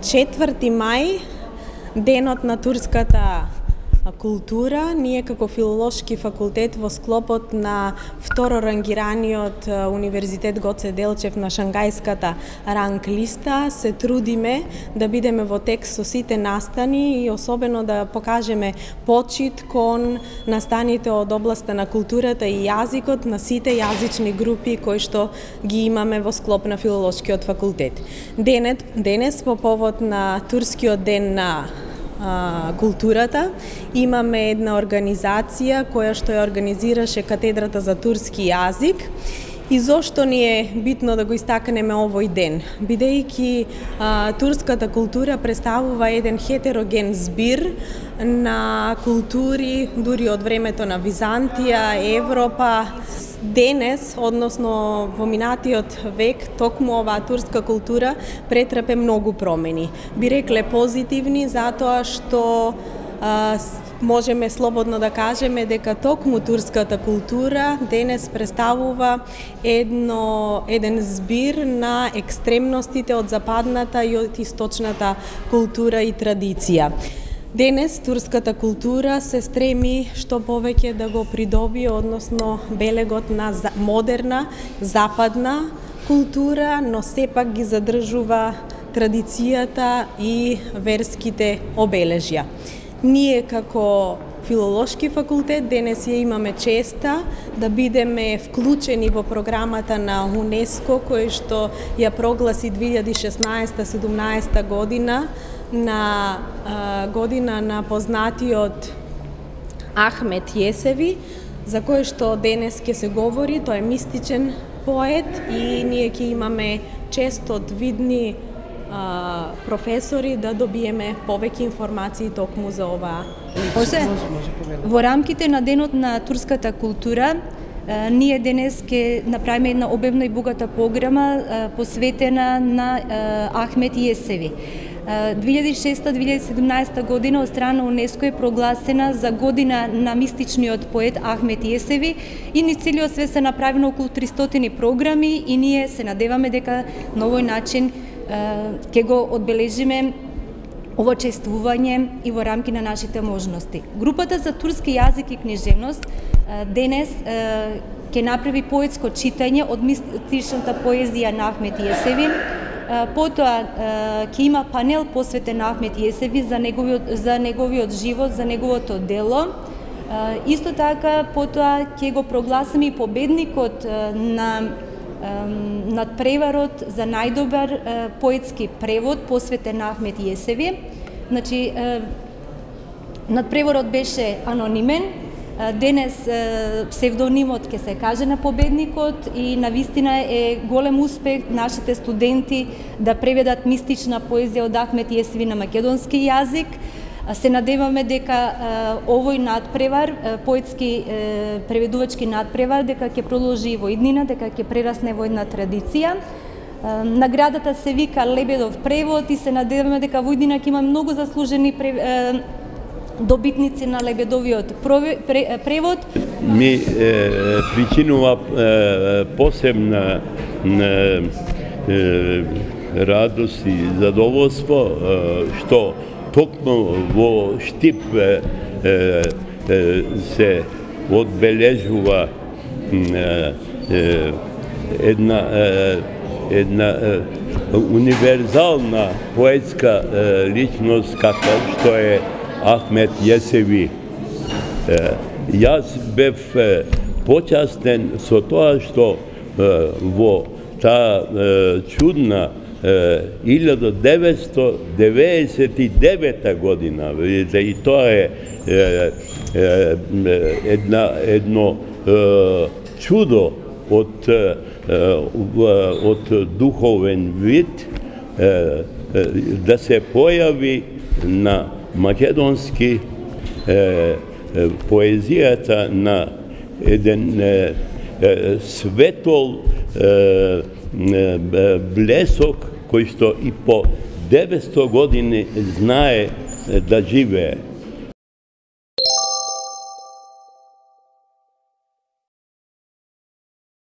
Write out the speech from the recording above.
4 мај, денот на турската култура, ние како филолошки факултет во склопот на второрангираниот Универзитет Гоце Делчев на Шангајската ранг листа се трудиме да бидеме во текст со сите настани и особено да покажеме почит кон настаните од областа на културата и јазикот на сите јазични групи кои што ги имаме во склоп на филолошкиот факултет. Денес по повод на турскиот ден на културата имаме една организација која што ја организираше Катедрата за турски јазик. И зошто ни е битно да го истакнеме овој ден? Бидејќи турската култура представува еден хетероген збир на култури дури од времето на Византија, Европа. Денес, односно во минатиот век, токму оваа турска култура претрпе многу промени. Би рекле позитивни, затоа што можеме слободно да кажеме дека токму турската култура денес представува еден збир на екстремностите од западната и од источната култура и традиција. Денес турската култура се стреми што повеќе да го придобие, односно белегот на модерна, западна култура, но сепак ги задржува традицијата и верските обележја. Ние како филолошки факултет денес ја имаме честа да бидеме вклучени во програмата на УНЕСКО, кој што ја прогласи 2016-17 година на година на познатиот Ахмет Јесеви, за кој што денес ќе се говори. Тој е мистичен поет и ние ќе имаме чест од видни професори да добиеме повеќе информации токму за оваа. Во рамките на денот на турската култура, ние денес ќе направиме една обемна и богата програма посветена на Ахмет Јесеви. 2006-2017 година од страна УНЕСКО е прогласена за година на мистичниот поет Ахмет Јесеви и низ целиот свет се направено околу 300 програми и ние се надеваме дека на овој начин ќе го одбележиме ово чествување и во рамки на нашите можности. Групата за турски јазик и книжевност денес ќе направи поетско читање од мистичната поезија на Ахмет Јесеви. Потоа ќе има панел посветен на Ахмет Јесеви за неговиот живот, за неговото дело. Исто така, потоа ќе го прогласиме и победникот на надпреварот за најдобар поетски превод посветен на Ахмет Јесеви. Значи, надпреварот беше анонимен. Денес псевдонимот ќе се каже на победникот и навистина е голем успех нашите студенти да преведат мистична поезија од Ахмет Јесеви на македонски јазик. Се надеваме дека овој надпревар, поетски преведувачки надпревар, дека ќе продолжи во иднина, дека ќе прерасне во една традиција. Наградата се вика Лебедов превод и се надеваме дека во иднина ќе има многу заслужени добитници на Лебедовиот превод. Ми причинува посебна радост и задоволство што токму во Штип се одбележува една универзална поетска личност како што е Ахмет Јесеви. Јас бев почастен со тоа што во таа чудна 1999 година, видите, и тоа е едно чудо од духовен вид да се појави на македонски поезијата на еден светол блесок кој што и по 900 години знае да живее.